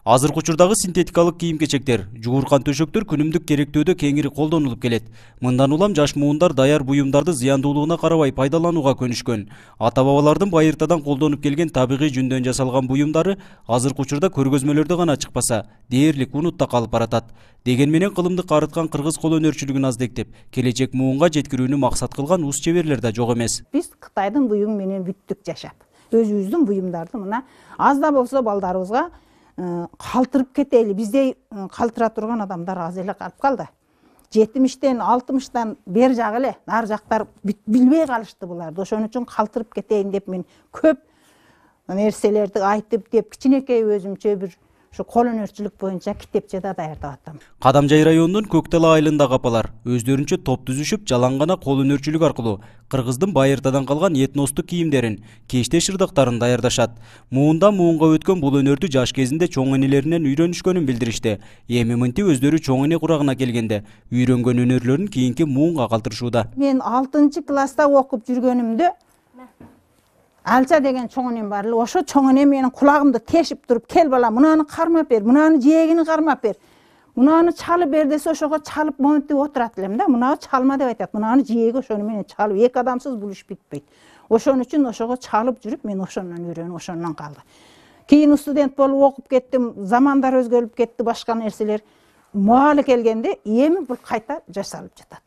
Азыркы учурдагы синтетикалык кийим-кечектер, жууркан төшөктөр күнүмдүк керектөөдө кеңири колдонулуп келет. Мындан улам жаш муундар даяр буюмдарды зыяндуулугуна карабай пайдаланууга көнүшкөн. Ата-бабалардын байыртадан колдонуп келген табигый жүндөн жасалган буюмдары азыркы учурда көргөзмөлөрдө гана чыкпаса, дээрлик унутта калып баратат. Деген менен кылымды карыткан кыргыз кол өнөрчүлүгүн аздектеп, келечек муунга жеткирүүнү максат кылган ус чеберлер да жок эмес. Биз Кытайдын буюму менен бүттүк жашап, өзүбүздүн буюмдарды мына аз да болсо балдарыбызга калтырып кетели. Биздей калтыра турган адамдар аз эле калып калды. 70-тен 60-тан бер жак эле нар жактар билбей калышты буларды. Ошон үчүн калтырып кетейин деп мен көп нерселерди айтып деп кичинекей өзүмчө бир ушу кол өнөрчүлүк боюнча китепче да даярдап атам. Кадамжай районунун Көктала айылындагы апалар өздөрүнчө топ түзүшүп, жалаң гана кол өнөрчүлүк аркылуу кыргыздын байыртадан калган этностук кийимдерин, кечте шырдыктарын даярдашат. Муундан муунга өткөн бул өнөрдү жаш кезинде чоң энелеринен үйрөнүшкөнүн билдиришти. Эми мынтип өздөрү чоң эне курагына келгенде үйрөнгөн өнөрлөрүн кийинки муунга калтырышууда. Мен 6-класста окуп жүргөнүмдө Алча деген чоң энем бар эле. Ошо чоң эне менин кулагымды тешип туруп, кел бала, мунаны кармап бер, мунаны жээгини кармап бер, мунаны чалып бер десе, ошого чалып монтип отурат элем да. Мунаны чалма деп айтат. Мунаны жээги ошону менен чалып, эки адамсыз бул иш бүтпөйт. Ошон үчүн ошого чалып жүрүп, мен ошондон үйрөнүп, ошондон калды. Кийин студент болуп окуп кеттим, замандар өзгөрүп кетти, башка нерселер. Маалы келгенде эми бул кайта жасалып жатат.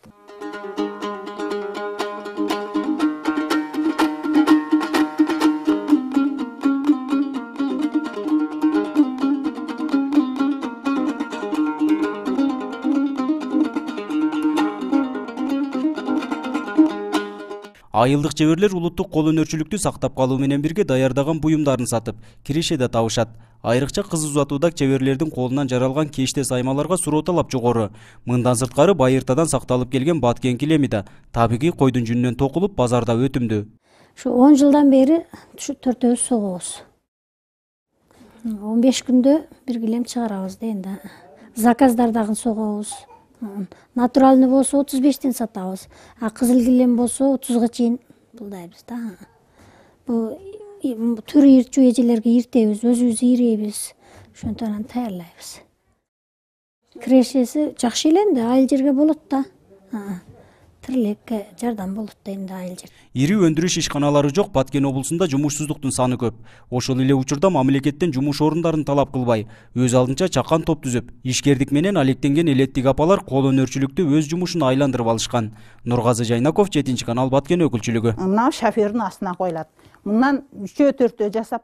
Айылдык чеберлер улуттук кол өнөрчүлүктү сактап калуу менен бирге даярдаган буюмдарын сатып, киреше да табышат. Айрыкча кыз узатууда чеберлердин колунан жаралган кечте саймаларга суроо талап жогору. Мындан сырткары байыртадан сакталып келген баткен килеми да табигый койдун жүнүнөн токулуп базарда өтүмдүү. Ушу 10 жылдан бери ушу төртөөбүз согобуз. 15 күндө бир килем чыгарабыз да энди. Заказдар дагы согобуз. Натуральный болсо 35-тен сатабыз. Кызыл килем болсо 30га чейин булдайбыз да. Бул түрү ирчүү эжелерге иртебиз, өзүбүз ирейбиз. Ошонтон даярдайбыз. Кирешеси жакшы эле энди, айыл жерге болот да. Тирлекке жардам болот да энди айыл жер. Ири өндүрүш ишканалары жок Баткен облусунда жумушсуздуктун саны көп. Ошол эле учурда мамлекеттен жумуш орундарын талап кылбай, өз алдынча чакан топ түзүп, ишкердик менен алектенген элеттик апалар кол өнөрчүлүктү өз жумушуна айландырып алышкан. Нургазы Жайнаков, 7-канал Баткен өкүлчүлүгү. Мына шофердин астына коюлат. Мындан 3-4 жасап